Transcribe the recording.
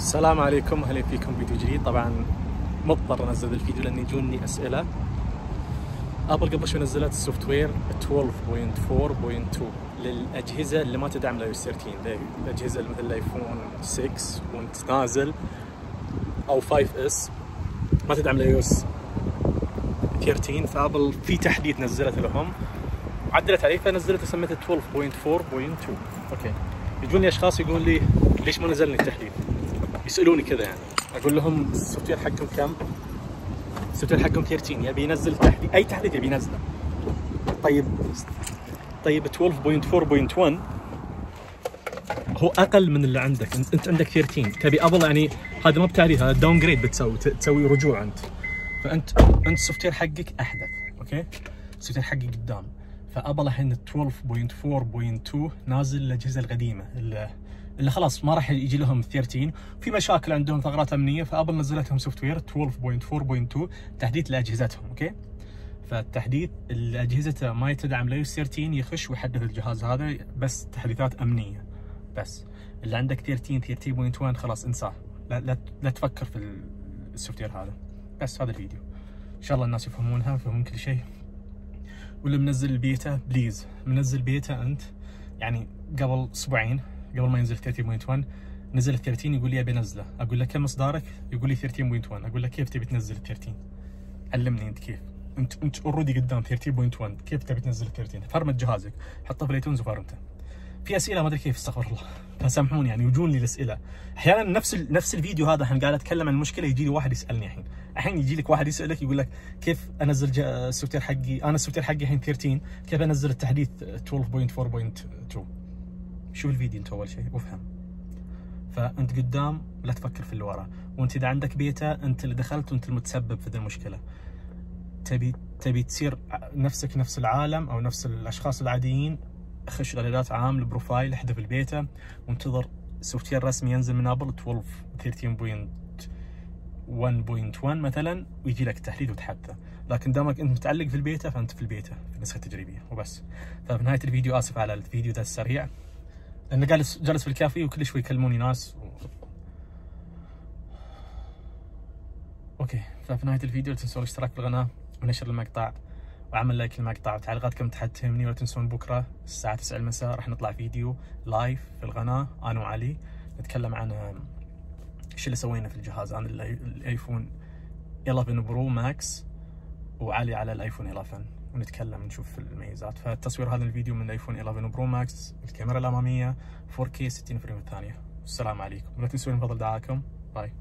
السلام عليكم، اهلا فيكم فيديو جديد. طبعا مضطر انزل الفيديو لان يجوني اسئله. ابل قبل شوي نزلت السوفت وير 12.4.2 للاجهزه اللي ما تدعم الاي 13، الاجهزه مثل الايفون 6 وانت نازل او 5S ما تدعم الاي 13. فابل في تحديث نزلت لهم وعدلت عليه فنزلت وسميته 12.4.2. اوكي، يجوني اشخاص يقولون لي ليش ما نزلني التحديث؟ يسألوني كذا يعني. أقول لهم السوفت وير حقكم كم؟ السوفت وير حقكم 13 يبي ينزل تحديث، أي تحديث يبي ينزله. طيب 12.4.1 هو أقل من اللي عندك، أنت عندك 13 تبي أبل يعني هذا ما بتعريف، هذا داون جريد تسوي رجوع أنت. فأنت السوفت وير حقك أحدث، أوكي؟ السوفت وير حقك قدام. فأبل الحين 12.4.2 نازل الأجهزة القديمة اللي خلاص ما راح يجي لهم 13، في مشاكل عندهم ثغرات امنيه، فابل نزلت لهم سوفت وير 12.4.2 تحديث لاجهزتهم. اوكي، فالتحديث اللي اجهزته ما تدعم لايوس 13 يخش ويحدث الجهاز هذا، بس تحديثات امنيه. بس اللي عندك 13.1 خلاص انساه، لا تفكر في السوفت وير هذا. بس هذا الفيديو ان شاء الله الناس يفهمونها ويفهمون كل شيء. واللي منزل البيتا بليز منزل بيتا انت، يعني قبل اسبوعين قبل ما ينزل 13.1 نزل ال 13 يقول لي ابي انزله، اقول له كم اصدارك؟ يقول لي 13.1. اقول له كيف تبي تنزل ال 13؟ علمني انت كيف، انت اوريدي قدام 13.1 كيف تبي تنزل ال 13؟ فرمت جهازك، حطه في الايتونز وفرمته. في اسئله ما ادري كيف، استغفر الله، فسامحوني يعني يجون لي الاسئله احيانا نفس الفيديو هذا الحين قاعد اتكلم عن المشكله، يجي لي واحد يسالني الحين يجي لك واحد يسالك يقول لك كيف انزل السوفت وير حقي، انا السوفت وير حقي الحين 13 كيف انزل التحديث 12.4.2؟ شوف الفيديو انت اول شيء وافهم. فانت قدام لا تفكر في اللي وراه، وانت اذا عندك بيتا انت اللي دخلت وانت المتسبب في ذي المشكله. تبي تصير نفسك نفس العالم او نفس الاشخاص العاديين، خش اعدادات عام البروفايل، احذف البيتا وانتظر سوفت وير رسمي ينزل من ابل 13.1.1 مثلا ويجي لك تحديث وتحدثه. لكن دامك انت متعلق في البيتا فانت في البيتا في النسخه التجريبيه وبس. ففي نهايه الفيديو اسف على الفيديو ذا السريع، لأنه جالس في الكافي وكل شوي يكلموني ناس اوكي. ففي نهاية الفيديو لا تنسون الاشتراك في القناة ونشر المقطع وعمل لايك للمقطع وتعليقاتكم تحت تهمني. ولا تنسون بكرة الساعة 9 المساء راح نطلع فيديو لايف في القناة أنا وعلي، نتكلم عن ايش اللي سوينا في الجهاز. أنا الايفون 11 برو ماكس وعلي على الايفون 11، ونتكلم نشوف الميزات. فالتصوير هذا الفيديو من الايفون 11 برو ماكس، الكاميرا الاماميه 4K 60 فريم في الثانيه. والسلام عليكم، ولا تنسون من فضل دعائكم. باي.